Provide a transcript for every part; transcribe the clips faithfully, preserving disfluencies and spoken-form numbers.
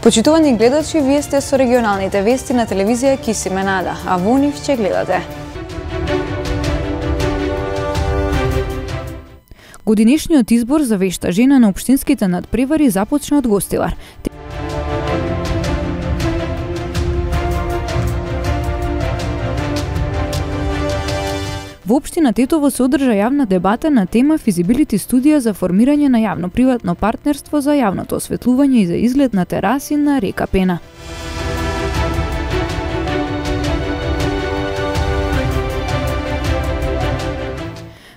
Почитувани гледачи, вие сте со регионалните вести на телевизија Кисиме Нада, а во нив ќе гледате. Годинишниот избор за вешта жена на општинските надпревари започна од Гостивар. Во општина Тетово се одржа јавна дебата на тема физибилити студија за формирање на јавно-приватно партнерство за јавното осветлување и за изглед на тераси на река Пена.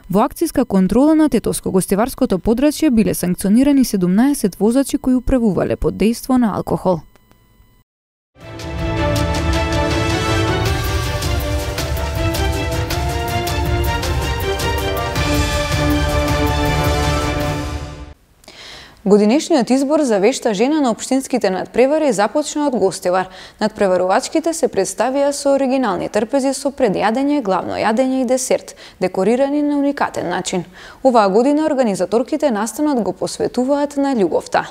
Во акцијска контрола на Тетовско-гостиварското подрачје биле санкционирани седумнаесет возачи кои управувале под дејство на алкохол. Годинешниот избор за вешта жена на општинските надпревари започна од Гостивар. Надпреварувачките се представија со оригинални трпези со предјадење, главно јадење и десерт, декорирани на уникатен начин. Оваа година организаторките настанот го посветуваат на љубовта.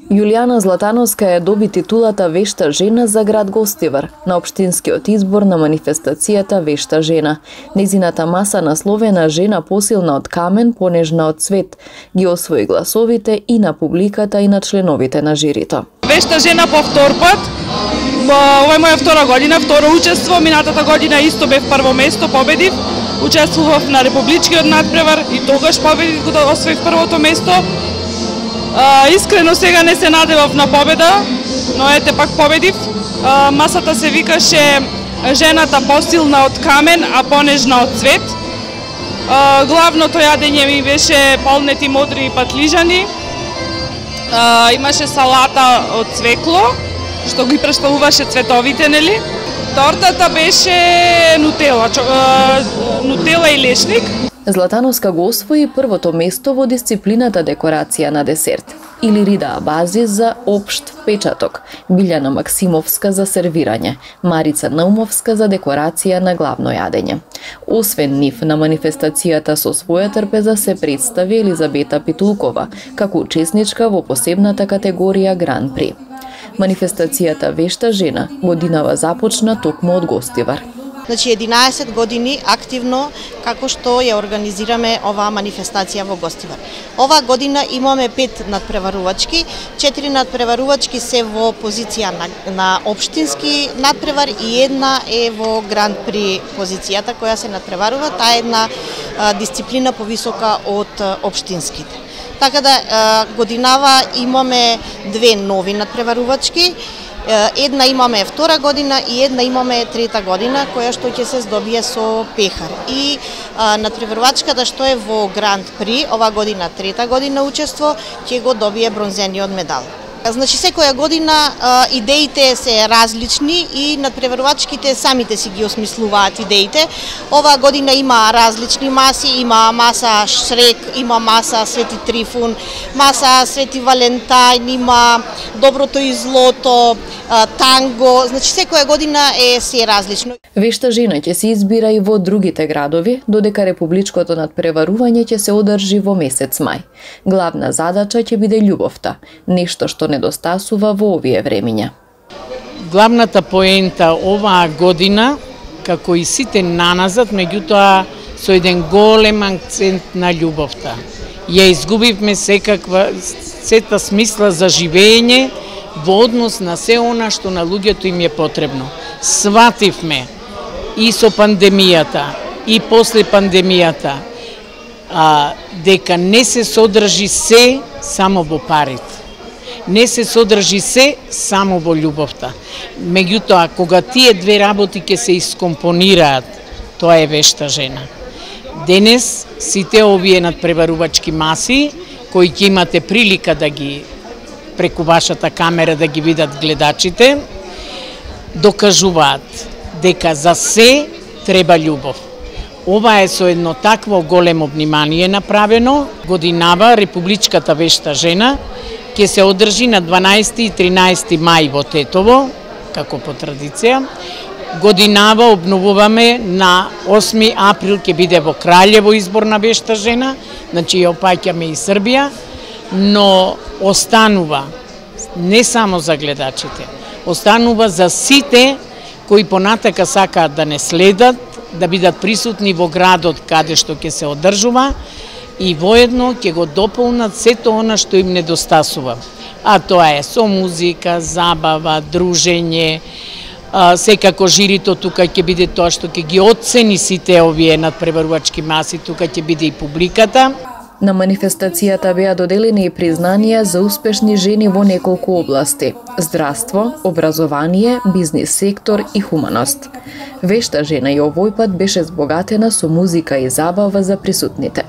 Јулијана Златановска ја доби титулата Вешта жена за град Гостивар на општинскиот избор на манифестацијата Вешта жена. Незината маса насловена Жена посилна од камен, понежна од цвет, ги освои гласовите и на публиката и на членовите на жирито. Вешта жена по втор пат. Ова е моја втора година, второ учество. Минатата година исто бев прво место, победив. Учествував на републичкиот надпревар и тогаш победив, кога освоив првото место. Uh, искрено сега не се надевав на победа, но ете пак победив. Uh, масата се викаше Жената посилна од камен, а понежна од цвет. Uh, главното јадење ми беше полнети модри патлижани. Uh, имаше салата од цвекло, што ги представуваше цветовите, нели? Тортата беше нутела, uh, нутела и лешник. Златановска го освои првото место во дисциплината декорација на десерт, Илирида Абазис за општ впечаток, Билјана Максимовска за сервирање, Марица Наумовска за декорација на главно јадење. Освен нив, на манифестацијата со своја трпеза се представи Елизабета Питулкова, како учесничка во посебната категорија Гран При. Манифестацијата Вешта жена годинава започна токму од Гостивар. Значи единаесет години активно како што ја организираме оваа манифестација во Гостивар. Оваа година имаме пет надпреварувачки, четири надпреварувачки се во позиција на, на општински надпревар и една е во Гран При позицијата која се надпреварува, таа е една а, дисциплина повисока од а, општинските. Така да а, годинава имаме две нови надпреварувачки. Една имаме втора година и една имаме трета година, која што ќе се здобие со пехар. И а, надпреварувачката што е во Гранд При, ова година трета година учество, ќе го добие бронзениот медал. Значи секоја година а, идеите се различни и надпреварувачките самите си ги осмислуваат идеите. Оваа година има различни маси, има маса Шрек, има маса Свети Трифун, маса Свети Валентајн, има Доброто и злото, а, танго, значи секоја година е се различно. Вешта жена ќе се избира и во другите градови, додека републичкото надпреварување ќе се одржи во месец мај. Главна задача ќе биде љубовта, нешто што недостасува во овие времиња. Главната поента оваа година, како и сите наназад, меѓутоа со еден голем акцент на љубовта. Ја изгубивме секаква сета смисла за живење во однос на се она што на луѓето им е потребно. Свативме и со пандемијата, и после пандемијата, а, дека не се содржи се само во парите. Не се содржи се само во љубовта. Меѓутоа, кога тие две работи ќе се искомпонираат, тоа е вешта жена. Денес, сите овие надпреварувачки маси, кои ќе имате прилика да ги преку вашата камера да ги видат гледачите, докажуваат дека за се треба љубов. Ова е со едно такво големо внимание направено. Годинава републичката вешта жена ќе се одржи на дванаесети и тринаесети мај во Тетово, како по традиција. Годинава обновуваме на осми април ќе биде во Краљево избор на вешта жена, значи ја опаќаме и Србија, но останува не само за гледачите, останува за сите кои понатака сакаат да не следат, да бидат присутни во градот каде што ќе се одржува и воедно ќе го дополнат сето она што им недостасува. А тоа е со музика, забава, дружење, секако жирито тука ќе биде тоа што ќе ги оцени сите овие надпреварувачки маси, тука ќе биде и публиката. На манифестацијата беа доделени и признанија за успешни жени во неколку области: здравство, образование, бизнис сектор и хуманост. Вешта жена и овој пат беше збогатена со музика и забава за присутните.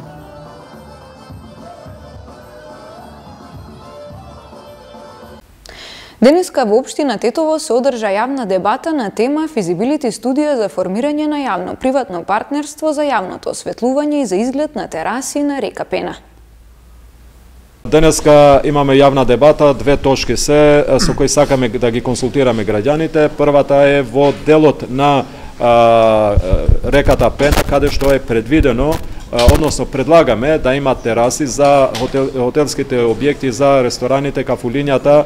Денеска во општина Тетово се одржа јавна дебата на тема Физибилити студија за формирање на јавно-приватно партнерство за јавното осветлување и за изглед на тераси на река Пена. Денеска имаме јавна дебата, две точки се со кои сакаме да ги консултираме граѓаните. Првата е во делот на а, реката Пена, каде што е предвидено, односно предлагаме да има тераси за хотел, хотелските објекти, за рестораните, кафулињата,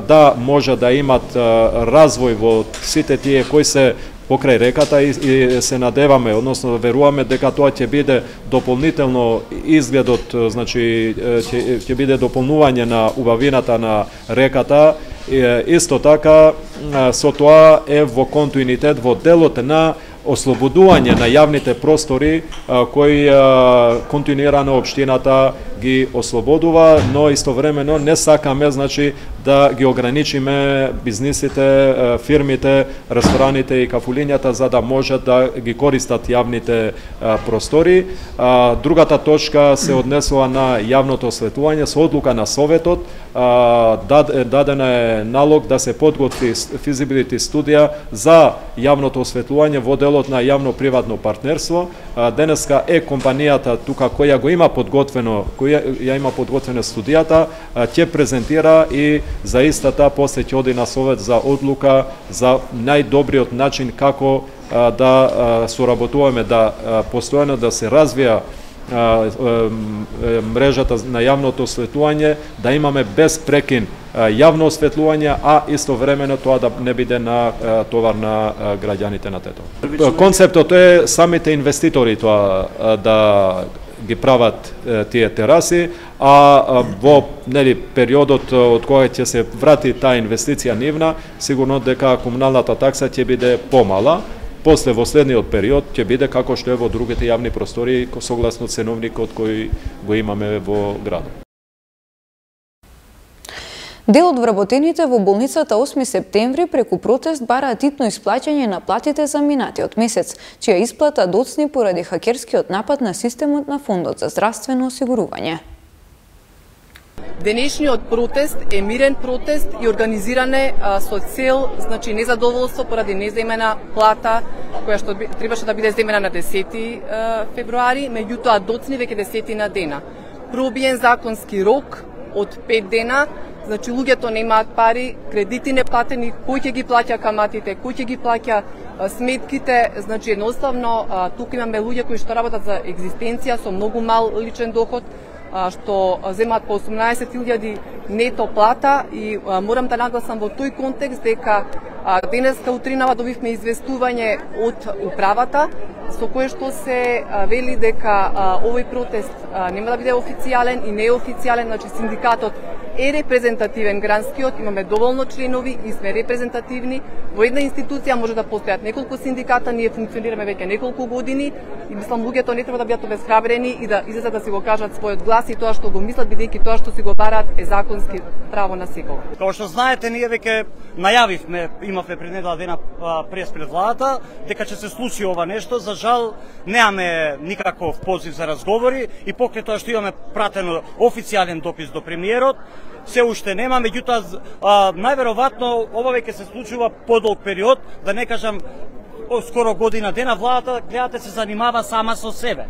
да може да имат развој во сите тие кои се покрај реката и, и се надеваме, односно веруваме дека тоа ќе биде дополнително изгледот, значи ќе, ќе биде дополнување на убавината на реката. Исто така со тоа е во континуитет во делот на ослободување на јавните простори кои континуирано општината ги ослободува, но истовремено не сакаме, значи, да ги ограничиме бизнисите, фирмите, рестораните и кафулињата за да можат да ги користат јавните простори. Другата точка се однесува на јавното осветлување. Со одлука на Советот даден е налог да се подготви физибилити студија за јавното осветлување во делот на јавно-приватно партнерство. Денеска е компанијата тука која го има подготвено, која ја има подготвена студијата, ќе презентира и за истата после ќе оди на Совет за одлука за најдобриот начин како да соработуваме, да постојано да се развија мрежата на јавното осветлување, да имаме без прекин јавно осветлување, а истовремено тоа да не биде на товар на граѓаните на Тетово. Концептот е самите инвеститори тоа да ги прават тие тераси, а во нели периодот од кога ќе се врати таа инвестиција нивна, сигурно дека комуналната такса ќе биде помала. После во следниот период ќе биде како што е во другите јавни простори согласно ценовникот кој го имаме во градот. Дел од вработените во болницата осми септември преку протест бараат итно исплаќање на платите за минатиот месец, чија исплата доцни поради хакерскиот напад на системот на Фондот за здравствено осигурување. Денешниот протест е мирен протест и организиране а, со цел, значи, незадоволство поради неземена плата која што требаше да биде земена на десети февруари, меѓутоа доцни веќе десети на дена. Пробиен законски рок од пет дена, значи луѓето немаат пари, кредити не платени, кој ќе ги плаќа каматите, кој ќе ги плаќа а, сметките, значи едноставно а, тука имаме луѓе кои што работат за екзистенција со многу мал личен доход, што земаат по осумнаесет илјади нето плата и а, морам да нагласам во тој контекст дека а, денеска утринава добивме известување од управата со кое што се а, вели дека а, овој протест а, нема да биде официјален и неофицијален, значи синдикатот е репрезентативен гранскиот, имаме доволно членови и сме репрезентативни. Во една институција може да постојат неколку синдиката, ние функционираме веќе неколку години и мислам луѓето не треба да бидат обесхрабрени и да излезат да си го кажат својот глас и тоа што го мислат, бидејќи тоа што си го бараат е законски право на секого. Како што знаете, ние веќе најавивме, имавме пред недела дена прес пред владата, дека ќе се случи ова нешто. За жал немаме никаков позив за разговори и покрај тоа што имаме пратено официјален допис до премиерот, се уште нема, меѓутоа најверојатно ова веќе се случува подолг период, да не кажам скоро година дена. Владата, гледате, се занимава сама со себе.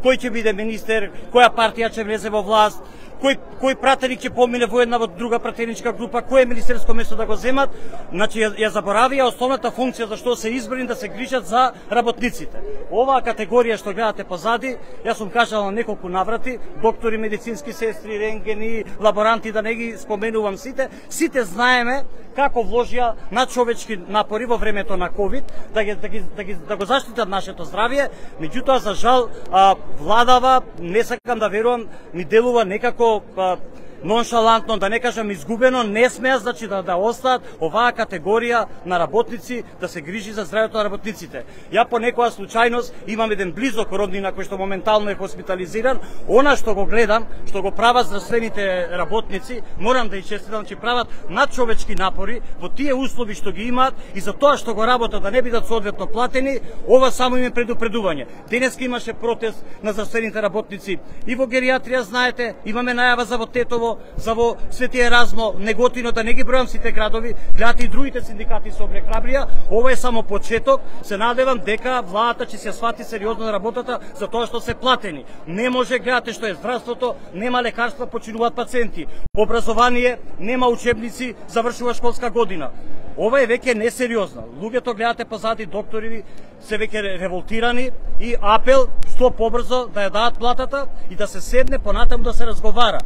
Кој ќе биде министер, која партија ќе влезе во власт, кој кој пратеник ќе помине во една во друга пратеничка група, кое министерско место да го земат, значи ја, ја заборавија основната функција за што се избрани да се грижат за работниците. Оваа категорија што гледате позади, јас сум кажал на неколку наврати, доктори, медицински сестри, рентгени, лаборанти, да не ги споменувам сите, сите знаеме како вложија надчовечки напори во времето на ковид да ги да ги да, ги, да го заштитат нашето здравје, меѓутоа за жал а, владава, не сакам да верувам, ми делува некако а, ноншалантно, да не кажам изгубено, не смеа значи да, да остаат оваа категорија на работници да се грижи за здравјето на работниците. Ја по некоја случајност имам еден близок роднина кој што моментално е хоспитализиран, она што го гледам, што го прават здравствените работници, морам да честитам, че прават надчовечки напори во тие услови што ги имаат и за тоа што го работат да не бидат соодветно платени, ова само им е предупредување. Денеска имаше протест на здравствените работници и во геријатрија, знаете, имаме најава за во Тетово, за во Свети Еразмо, Неготино, да не ги бројам сите градови, гледате и другите синдикати се обрехрабрија. Ова е само почеток. Се надевам дека владата ќе се свати сериозно на работата за тоа што се платени. Не може, гледате што е здравството, нема лекарства, починуваат пациенти. Образование, нема учебници, завршува школска година. Ова е веќе несериозно. Луѓето гледате позади, доктори се веќе револтирани и апел што побрзо да ја дадат платата и да се седне понатаму да се разговара.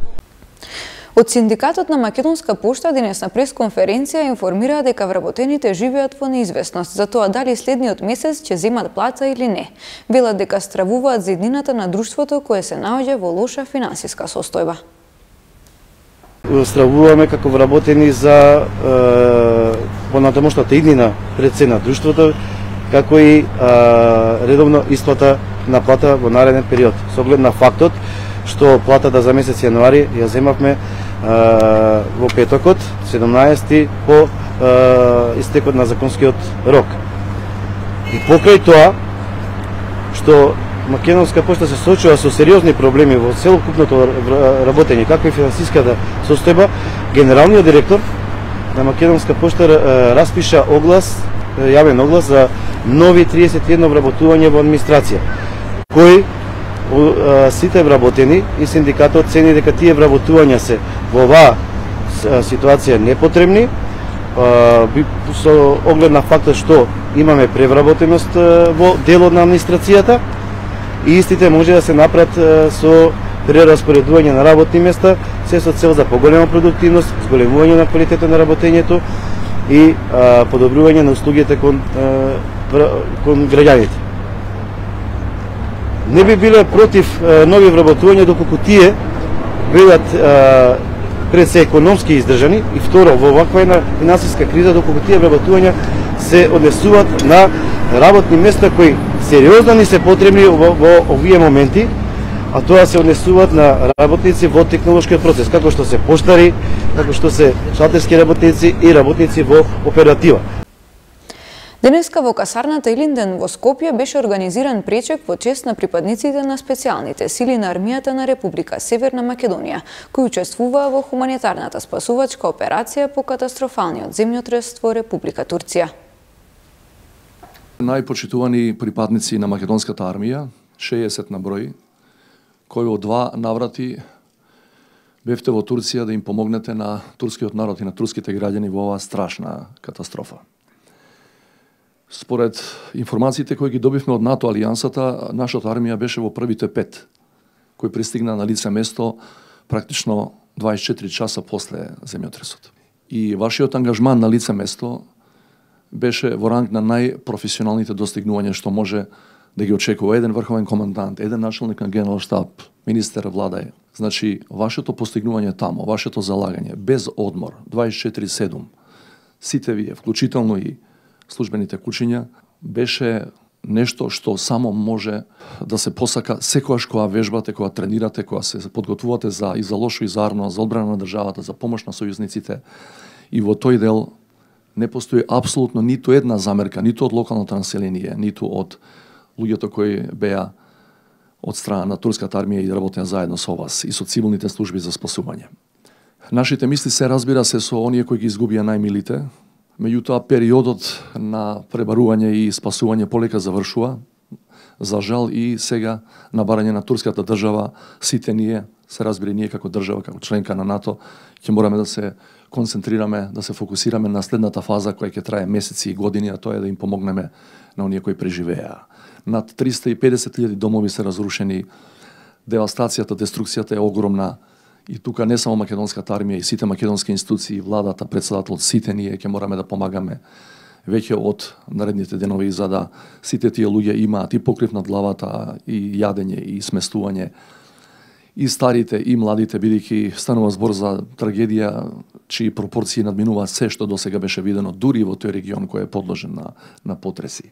Од Синдикатот на Македонска пошта денес на пресконференција информира дека вработените живеат во неизвестност за тоа дали следниот месец ќе земат плата или не. Велат дека стравуваат за иднината на друштвото кое се наоѓа во лоша финансиска состојба. Стравуваме како вработени за е, понатамошната иднина пред се на друштвото, како и е, редовно исплата на плата во нареден период. Со оглед на фактот што платата за месец јануари ја земавме е, во петокот, седумнаесети, по е, истекот на законскиот рок. И покрај тоа, што Македонска пошта се соочува со сериозни проблеми во целокупното работење, како и финансиската состојба, генералниот директор на Македонска пошта е, распиша оглас, јавен оглас за нови триесет и едно вработување во администрација, кој сите вработени и синдикатот цени дека тие вработувања се во оваа ситуација непотребни, со оглед на фактот што имаме превработеност во делот на администрацијата и истите може да се направат со прераспоредување на работни места, се со цел за поголема продуктивност, зголемување на квалитетот на работењето и подобрување на услугите кон, кон граѓаните. Не би биле против е, нови вработувања доколку тие бидат пред се економски издржани и второ во ваква една финансиска криза доколку тие вработувања се однесуваат на работни места кои сериозно ни се потребни во, во овие моменти, а тоа се однесуваат на работници во технолошкиот процес, како што се поштари, како што се шалтерски работници и работници во оператива. Денеска во касарната Илинден во Скопје беше организиран пречек во чест на припадниците на специјалните сили на армијата на Република Северна Македонија, кои учествуваа во хуманитарната спасувачка операција по катастрофалниот земјотрес во Република Турција. Најпочитувани припадници на македонската армија, шеесет на број, кои од два наврати бевте во Турција да им помогнете на турскиот народ и на турските граѓани во оваа страшна катастрофа. Според информациите кои ги добивме од НАТО алијансата, нашата армија беше во првите пет, кои пристигна на лице место практично дваесет и четири часа после земјотресот. И вашиот ангажман на лице место беше во ранг на најпрофесионалните достигнувања што може да ги очекува еден врховен командант, еден началник на генерал штаб, министер, влада е. Значи, вашето постигнување тамо, вашето залагање, без одмор, дваесет и четири седум, сите вие, вклучително и службените кучиња, беше нешто што само може да се посака секогаш кога вежбате, кога тренирате, кога се подготвувате за и за лошо и за арно, за одбрана на државата, за помош на сојузниците. И во тој дел не постои апсолутно ниту една замерка, ниту од локалното население, ниту од луѓето кои беа од страна на турската армија и работеа заедно со вас и со цивилните служби за спасување. Нашите мисли се разбира се со оние кои ги изгубија најмилите, меѓутоа периодот на пребарување и спасување полека завршува. За жал и сега на барање на турската држава, сите ние, се разбери ние како држава, како членка на НАТО, ќе мораме да се концентрираме, да се фокусираме на следната фаза која ќе трае месеци и години, а тоа е да им помогнеме на оние кои преживеа. Над триста и педесет илјади домови се разрушени, девастацијата, деструкцијата е огромна и тука не само македонската армија и сите македонски институции, владата, председател, сите ние ќе мораме да помагаме веќе од наредните денови за да сите тие луѓе имаат и покрив над главата, и јадење, и сместување, и старите, и младите, бидејќи станува збор за трагедија чии пропорции надминуваат се што досега беше видено дури во тој регион кој е подложен на, на потреси.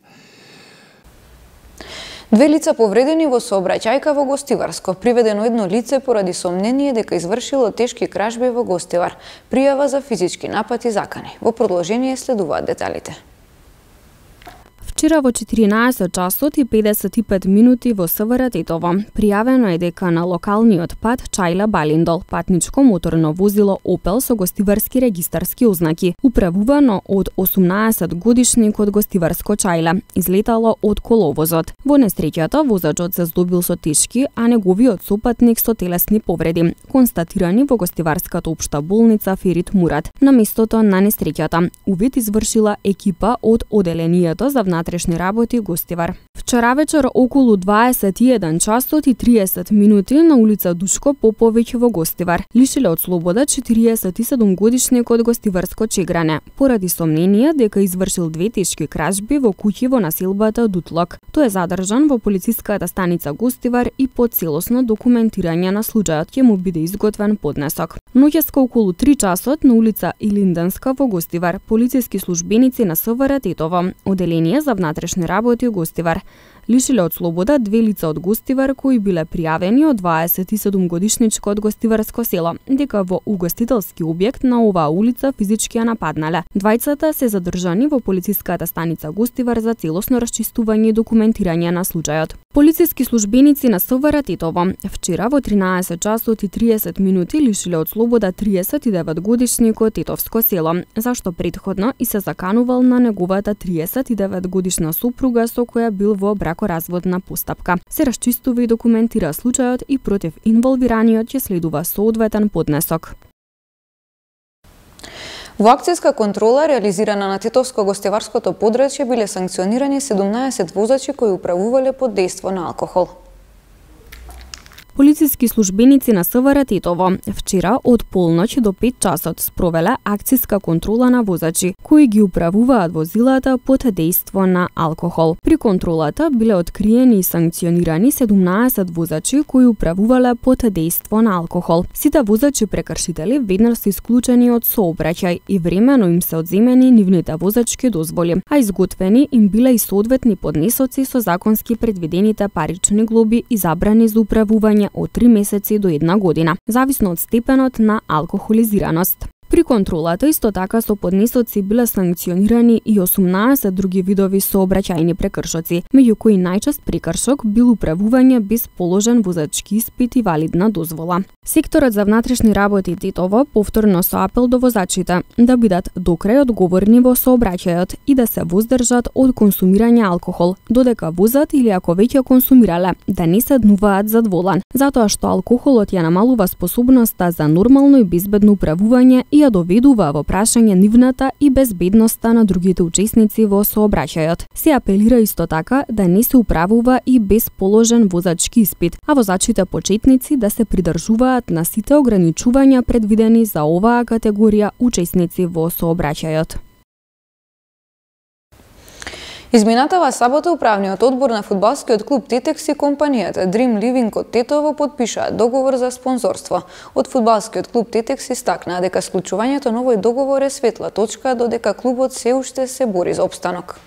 Две лица повредени во сообраќајка во Гостиварско. Приведено едно лице поради сомнение дека извршило тешки кражби во Гостивар. Пријава за физички напад и закани. Во продолжение следуваат деталите. Вчера во четиринаесет часот и педесет и пет минути во СВР Тетово пријавено е дека на локалниот пат Чајла Балиндол патничко моторно возило Опел со гостиварски регистарски ознаки, управувано од осумнаесет годишник од Гостиварско Чајла, излетало од коловозот. Во несреќата возачот се здобил со тешки, а неговиот сопатник со телесни повреди, констатирани во Гостиварската општа болница Ферит Мурат. На местото на несреќата увид извршила екипа од оделението за внатрешни работи Гостивар. Вчера вечер околу дваесет и еден часот и триесет минути на улица Душко Поповиќ во Гостивар лишиле од слобода четириесет и седум годишник од Гостиварско Чегране поради сомнение дека извршил две тешки кражби во куќи во населбата Дутлок. Тој е задржан во полициската станица Гостивар и по целосно документирање на случајот ќе му биде изготвен поднесок. Ноќеска околу три часот на улица Илинденска во Гостивар полициски службеници на СВР Тетово, оделение за внатрешни работи Гостивар, лишиле од слобода две лица од Гостивар кои биле пријавени од дваесет и седум годишничко од Гостиварско село, дека во угостителски објект на оваа улица физички ја нападнале. Двајцата се задржани во полициската станица Гостивар за целосно расчистување и документирање на случајот. Полициски службеници на СВР Тетово вчера во тринаесет часот и триесет минути лишиле од слобода триесет и девет годишник од Тетовско село, зашто претходно и се заканувал на неговата триесет и девет годишна супруга со која бил во бракоразводна постапка. Се расчистува и документира случајот и против инволвираниот ќе следува соодветен поднесок. Во акцијска контрола реализирана на Тетовско-Гостиварското подрачје биле санкционирани седумнаесет возачи кои управувале под дејство на алкохол. Полициски службеници на СВР Тетово вчера од полноќ до пет часот спровеле акцијска контрола на возачи кои ги управуваат возилата под дејство на алкохол. При контролата биле откриени и санкционирани седумнаесет возачи кои управувале под дејство на алкохол. Сите возачи прекршители веднаш се исклучени од сообраќај и времено им се одземени нивните возачки дозволи, а изготвени им биле и соодветни поднесоци со законски предвидените парични глоби и забрани за управување од три месеци до една година, зависно од степенот на алкохолизираност. При контролата исто така со поднесоци биле санкционирани и осумнаесет други видови сообраќајни прекршоци, меѓу кои најчест прекршок бил управување без положен возачки испит и валидна дозвола. Секторот за внатрешни работи Тетово повторно со апел до возачите да бидат докрај одговорни во сообраќајот и да се воздржат од консумирање алкохол, додека возат или ако веќе консумирале, да не седнуваат зад волан, затоа што алкохолот ја намалува способноста за нормално и безбедно управување и ја доведува во прашање нивната и безбедноста на другите учесници во сообраќајот. Се апелира исто така да не се управува и без положен возачки испит, а возачите почетници да се придржуваат на сите ограничувања предвидени за оваа категорија учесници во сообраќајот. Изминатава сабота управниот одбор на фудбалскиот клуб Тетекс и компанијата Dream Living од Тетово подпишаа договор за спонзорство. Од фудбалскиот клуб Тетекс истакнаа дека склучувањето на овој договор е светла точка, додека клубот се уште се бори за опстанок.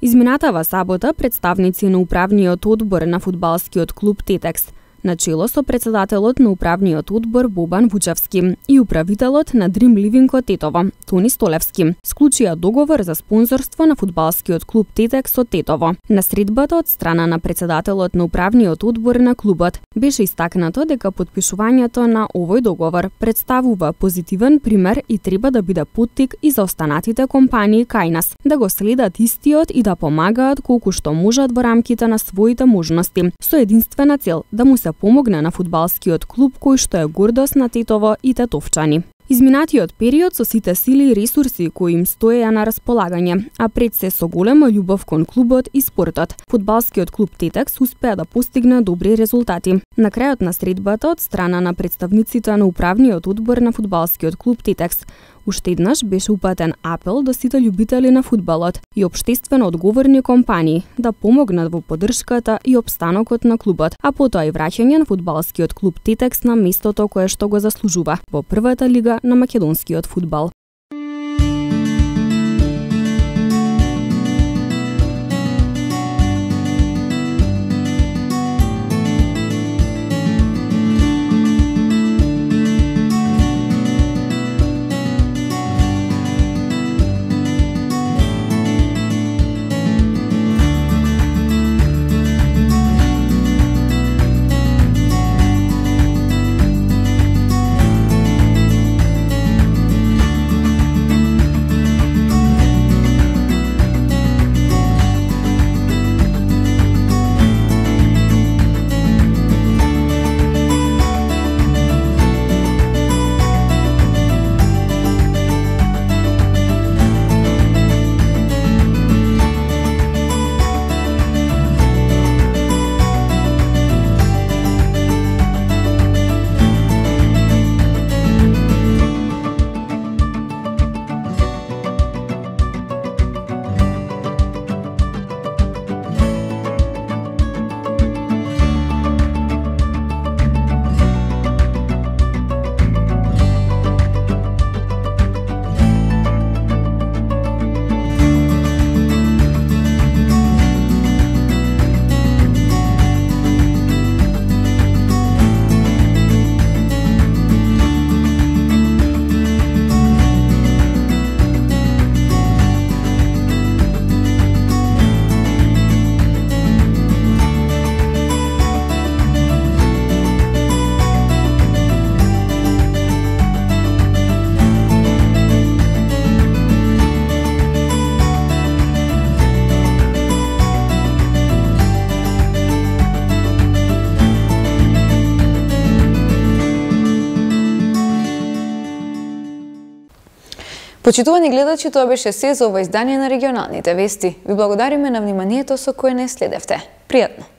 Изминатава сабота представници на управниот одбор на фудбалскиот клуб Тетекс начело со председателот на управниот одбор Бобан Вучевски и управителот на Dream Living Тетово Тони Столевски склучија договор за спонзорство на фудбалскиот клуб Тетекс со Тетово. На средбата од страна на председателот на управниот одбор на клубот беше истакнато дека подпишувањето на овој договор представува позитивен пример и треба да биде поттик и за останатите компании кај нас да го следат истиот и да помагаат колку што можат во рамките на своите можности, со единствена цел да му се помогне на фудбалскиот клуб кој што е гордост на Тетово и тетовчани. Изминатиот период со сите сили и ресурси кои им стоеја на располагање, а пред се со голема љубов кон клубот и спортот, фудбалскиот клуб Тетекс успеа да постигне добри резултати. На крајот на средбата од страна на представниците на управниот одбор на фудбалскиот клуб Тетекс, уште еднаш беше упатен апел до сите љубители на фудбалот и општествено одговорни компании да помогнат во поддршката и опстанокот на клубот, а потоа и враќање на фудбалскиот клуб Тетекс на местото кое што го заслужува во првата лига на македонскиот фудбал. Почитувани гледачи, тоа беше се за ова издание на регионалните вести. Ви благодариме на вниманието со кое не следевте. Пријатно!